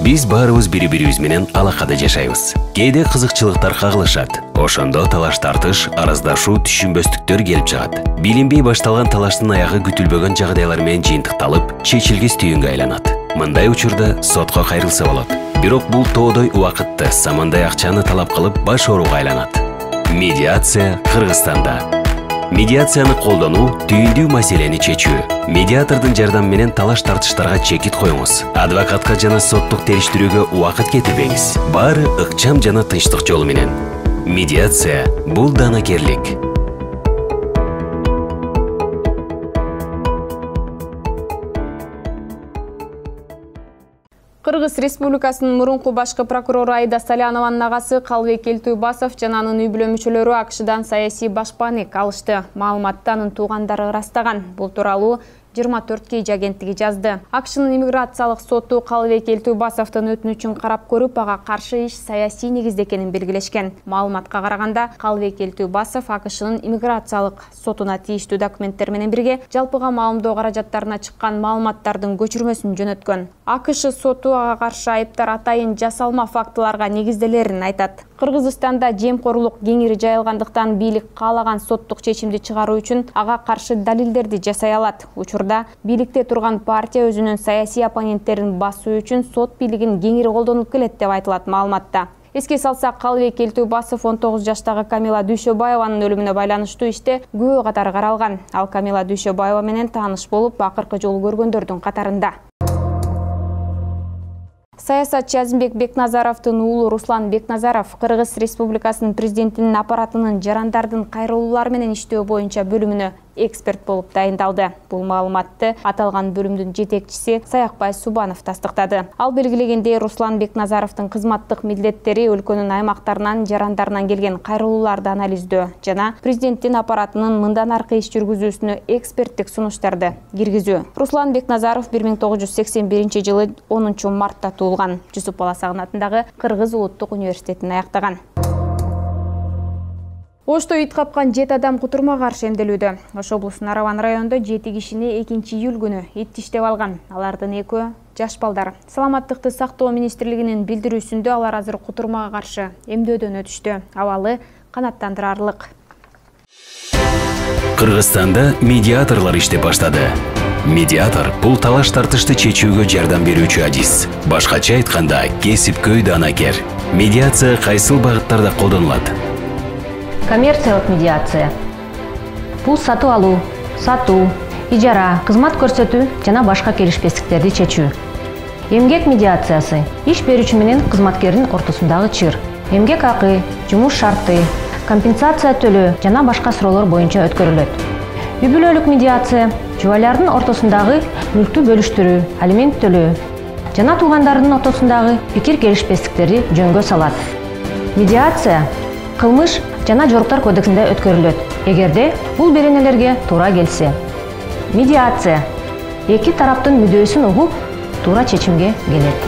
Биз баарыбыз бири-бирибиз менен алакада жашайбыз. Кээде кызыкчылыктар кагылышат. Ошондо талаш-тартыш, араздашуу, түшүнбөстүктөр келип чыгат. Билинбей башталган талаштын аягы күтүлбөгөн жагдайлар менен жыйынтыкталып, чечилгис түйүнгө айланат. Мындай учурда сотко кайрылса болот. Бирок бул тоодой убакытты, самандай акчаны талап кылып баш ооруга айланат. Медиация Кыргызстанда. Медиацияны колдонуу түйүндүү маселени чечүү. Медиатордун жардамы менен талаш-тартыштарга чекит коюңуз. Адвокатка жана соттук териштирүүгө убакыт кетирбеңиз. Баары ыкчам жана тынчтык жолу менен. Медиация бул данакерлик. Кыргыз Республикасынын мурунку башкы прокурору Аида Салянованын агасы Калыбек Элтүүбасов жана анын үй-бүлө мүчөлөрү АКШдан саясий башпаанек алышты. Маалыматты анын туугандары ырастаган. Бул тууралуу 24 Кей агенттиги жазды. АКШнын иммиграциялык соту Калыбек Элтүүбасовдун өтүнүчүн карап көрүп, ага каршы иш саясий негизде экенин белгилешкен. Маалыматка караганда, Калыбек Элтүүбасов АКШнын иммиграциялык сотуна тийиштүү документтер менен бирге жалпыга маалымдоо каражаттарына чыккан маалыматтардын көчүрмөсүн жөнөткөн. АКШ соту ага каршы айыптар атайын жасалма фактыларга негизделерин айтат. Кыргызстанда жемкорлук кеңири жайылгандыктан бийлик каалаган соттук чечимди чыгаруу үчүн ага каршы далилдерди жасай алат. Учурда бийликте турган партия өзүнүн саясий оппоненттерин басуу үчүн сот бийлигин кеңири колдонуп келет деп айтылат маалыматта. Эске салсак, Калыбек Элтүүбасов 19 жаштагы Камила Дүйшөбаеванын өлүмүнө байланыштуу иште күбө катары каралган. Ал Камила Дүйшөбаева менен тааныш болуп, акыркы жолу көргөндөрдүн катарында. Саясатчы Азимбек Бекназаровдун уулу Руслан Бекназаров Кыргыз Республикасынын президентинин аппаратынын жарандардын кайрылуулар менен иштөө боюнча бөлүмүнө эксперт болуп дайындалды. Бул маалыматты аталган бөлүмдүн жетекчиси Саякбай Субанов тастыктады. Ал белгилегендей, Руслан Бекназаровдун кызматтык милдеттери өлкөнүн аймактарынан, жарандарынан келген кайрылууларды анализдөө жана президенттин аппаратынын мындан аркы иш жүргүзүүсүнө эксперттик сунуштарды киргизүү. Руслан Бекназаров 1981 жылы 10 мартта туулган. Жусуп Баласагын атындагы Кыргыз улуттук университетин аяктаган. Ошто ит капкан 7 адам кутурма каршы эмделүүдө. Ош облусунун Араван районунда 7 кишини 2-июль күнү ит тиштеп алган. Алардын 2-өө жаш балдар. Саламаттыкты сактоо министрлигинин билдирүүсүндө алар азыр кутурмага каршы эмдөөдөн өтүштү. Абалы канааттандырарлык. Кыргызстанда медиаторлор иштеп баштады. Медиатор бул талаш-тартышты чечүүгө жардам берүүчү адис. Башкача айтканда, кесипкөй данакер. Медиация кайсыл багыттарда колдонулат? Коммерциялык медиация. Бул сатып алуу, сатуу, ижара, кызмат көрсөтүү жана башка келишпестиктерди чечүү. Эмгек медиациясы иш берүүчү менен кызматкердин ортосундагы чыр. Эмгек акы, жумуш шарты, компенсация төлөө жана башка суроолор боюнча өткөрүлөт. Үй-бүлөлүк медиация жубайлардын ортосундагы мүлктү бөлүштүрүү, алимент төлөө жана туугандардын ортосундагы пикир келишпестиктерди жөнгө салат. Медиация кылмыш жана жоруктар кодексинде өткөрүлөт, эгерде бул беренелерге туура келсе. Медиация эки тараптын мүдөөсүн угуп, туура чечимге келет.